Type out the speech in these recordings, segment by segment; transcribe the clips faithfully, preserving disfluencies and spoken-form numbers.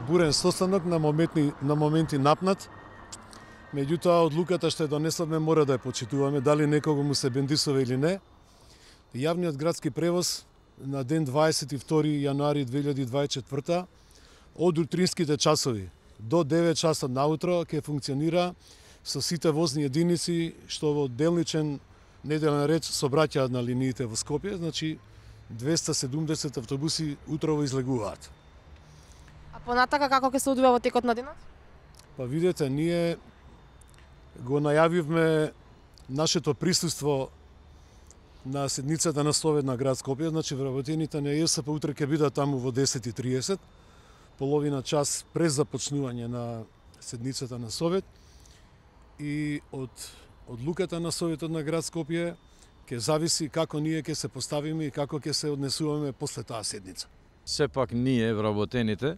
бурен состанок, на моменти, на моменти напнат. Меѓутоа, одлуката што ја донесовме мора да ја почитуваме, дали некого му се бендисува или не. Јавниот градски превоз на ден дваесет и втори јануари две илјади дваесет и четврта од утринските часови до девет часот наутро ќе функционира со сите возни единици што во делничен неделен ред сообраќаат на линиите во Скопје, значи двеста и седумдесет автобуси утрово излегуваат. А понатака како ќе се одвива во текот на денот? Па видете, ние го најавивме нашето присуство на седницата на Совет на град Скопје, значи вработените на ЕСП утре ќе бидат таму во десет и триесет, половина час през започнување на седницата на Совет, и од одлуката на Советот на град Скопје ќе зависи како ние ќе се поставиме и како ќе се однесуваме после таа седница. Сепак ние, вработените,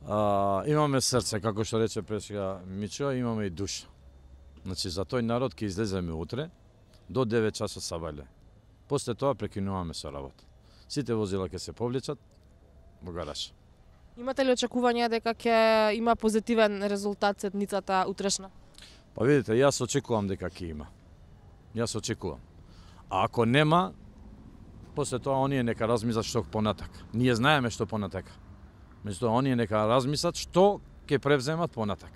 а, имаме срце, како што рече пресега Мичо, имаме и душа. Значи, за тој народ ќе излеземе утре до девет часот сабајле. После тоа прекинуваме со работа. Сите возила ќе се повлечат во гараж. Имате ли очекување дека ќе има позитивен резултат седницата утрешна? Па видите, јас очекувам дека ќе има. Јас очекувам. А ако нема, после тоа оние нека размислат што понатак. Ние знаеме што понатака. Меѓутоа оние нека размислат што ќе превземат понатак.